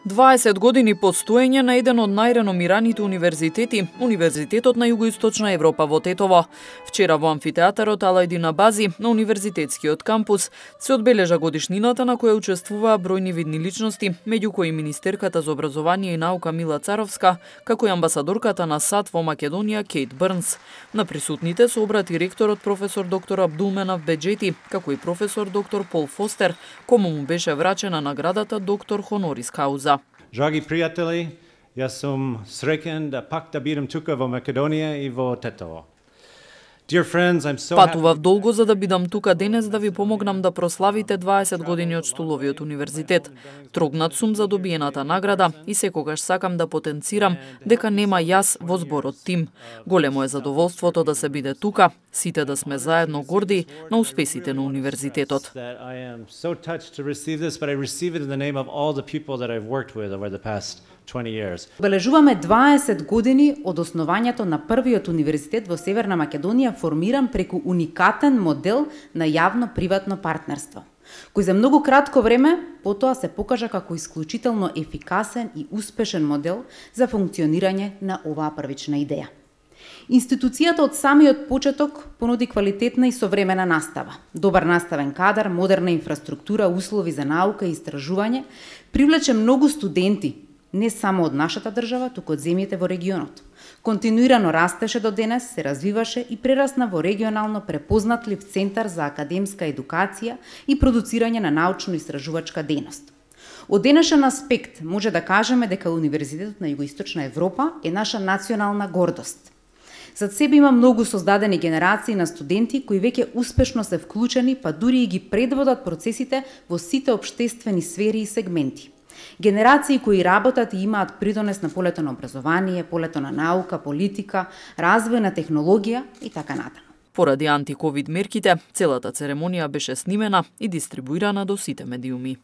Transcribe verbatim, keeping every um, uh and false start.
дваесет години постоење на еден од најреномираните универзитети, Универзитетот на Југоисточна Европа во Тетово. Вчера во амфитеатарот Алајдин Абази на универзитетскиот кампус се одбележа годишнината на која учествуваа бројни видни личности, меѓу кои министерката за образование и наука Мила Царовска, како и амбасадорката на САД во Македонија Кейт Брнс. На присутните се обрати ректорот професор доктор Абдулменав Беџети, како и професор доктор Пол Фостер, кому му беше врачена наградата доктор хонорис кауза. Драги пријатели, јас сум среќен да пак да бидам тука во Македонија и во Тетово. Патував долго за да бидам тука денес да ви помогнам да прославите дваесет години од Штуловиот универзитет. Трогнат сум за добиената награда и секогаш сакам да потенцирам дека нема јас во зборот тим. Големо е задоволството да се биде тука, сите да сме заедно горди на успесите на универзитетот. Обележуваме дваесет години од основањето на првиот универзитет во Северна Македонија, формиран преку уникатен модел на јавно-приватно партнерство, кој за многу кратко време потоа се покажа како исклучително ефикасен и успешен модел за функционирање на оваа првична идеја. Институцијата од самиот почеток понуди квалитетна и современа настава, добар наставен кадар, модерна инфраструктура, услови за наука и истражување, привлече многу студенти, не само од нашата држава, туку од земјите во регионот. Континуирано растеше до денес, се развиваше и прерасна во регионално препознатлив центар за академска едукација и продуцирање на научно-истражувачка дејност. Од денешен аспект може да кажеме дека Универзитетот на Југоисточна Европа е наша национална гордост. Зад себе има многу создадени генерации на студенти кои веќе успешно се вклучени, па дури и ги предводат процесите во сите општествени сфери и сегменти. Генерации кои работат и имаат придонес на полето на образование, полето на наука, политика, развој на технологија и така натаму. Поради антиковид мерките, целата церемонија беше снимена и дистрибуирана до сите медиуми.